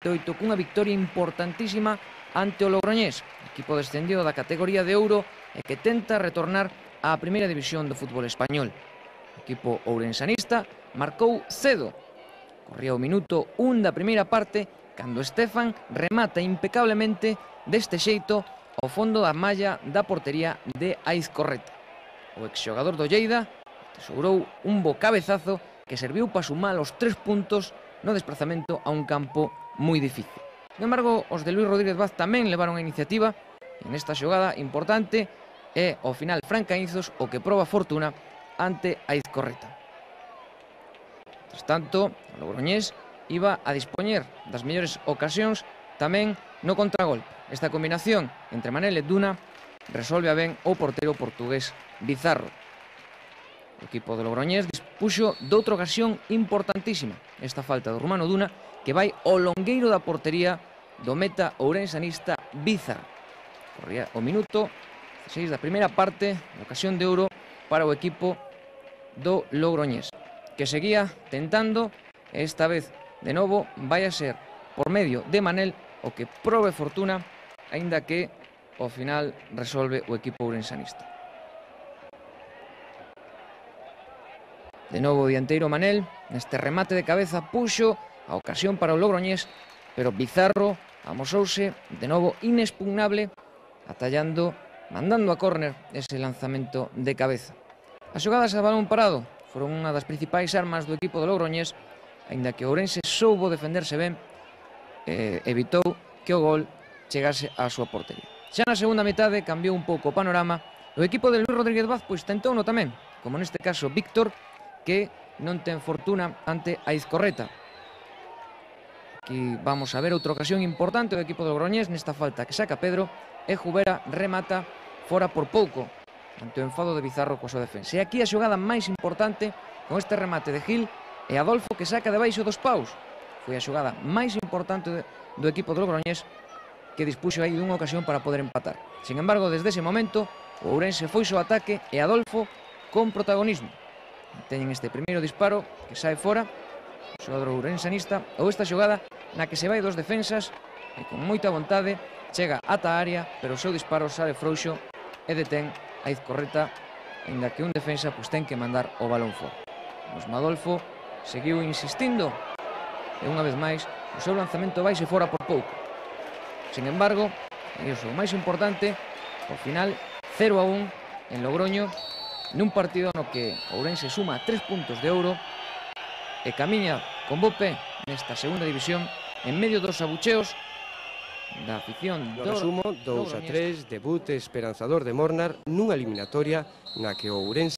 2018 cunha victoria importantísima ante o Logroñés, equipo descendido da categoría de ouro e que tenta retornar á primeira división do fútbol español. O equipo ourensanista marcou cedo. Corría o minuto 1 da primeira parte cando Estefan remata impecablemente deste xeito ao fondo da malla da portería de Aizcorreta. O exxogador do Lleida tesourou un bo cabezazo que serviu para sumar os 3 puntos no desplazamento a un campo moi difícil. Sin embargo, os de Luis Rodríguez Vaz tamén levaron a iniciativa e nesta xogada importante é ao final Fran Caínzos o que proba fortuna ante Aizcorreta. Tras tanto, o Logroñés iba a dispoñer das mellores ocasións tamén no contragolpe. Esta combinación entre Manel e Duna resolve a ben o portero portugués Bizarro. O equipo do Logroñés dispuxo doutra ocasión importantísima, esta falta do rumano Duna que vai ao longueiro da portería do meta ourensanista Bizarro. Corría o minuto 16 da primeira parte, ocasión de ouro para o equipo do Logroñés, que seguía tentando, e esta vez de novo vai a ser por medio de Manel o que probe fortuna, aínda que ao final resolve o equipo ourensanista. De novo o dianteiro Manel, neste remate de cabeza puxo a ocasión para o Logroñés, pero Bizarro amosouse de novo inexpugnable, atallando, mandando a córner ese lanzamento de cabeza. As xogadas a balón parado foron unha das principais armas do equipo do Logroñés, aínda que o Ourense soubo defenderse ben, evitou que o gol chegase á súa portería. Xa na segunda metade cambiou un pouco o panorama. O equipo de Luis Rodríguez Vaz pois tentouno tamén, como neste caso Víctor, que non ten fortuna ante Aizcorreta. Aquí vamos a ver outra ocasión importante do equipo do Logroñés nesta falta que saca Pedro e Jubera remata fora por pouco ante o enfado de Bizarro coa súa defensa. E aquí a xogada máis importante con este remate de Gil e Adolfo que saca debaixo dos paus. Foi a xogada máis importante do equipo do Logroñés que dispuxo aí dunha ocasión para poder empatar. Sin embargo, desde ese momento o Ourense foi ao ataque e Adolfo con protagonismo. Teñen este primeiro disparo que sae fora, o xogador ourensanista, ou esta xogada na que se vai dos defensas e con moita vontade chega ata a área, pero o seu disparo sale frouxo e detén a Aizcorreta, aínda que un defensa pois ten que mandar o balón fora. Os Adolfo seguiu insistindo e unha vez máis o seu lanzamento vaise fora por pouco. Sin embargo, e iso o máis importante, ao final 0-1 en Logroño, nun partido no que Ourense suma 3 puntos de ouro e camiña con bo pé nesta segunda división en medio dos abucheos da afición do resumo, 2-3, debut esperanzador de Mornar nunha eliminatoria na que o Ourense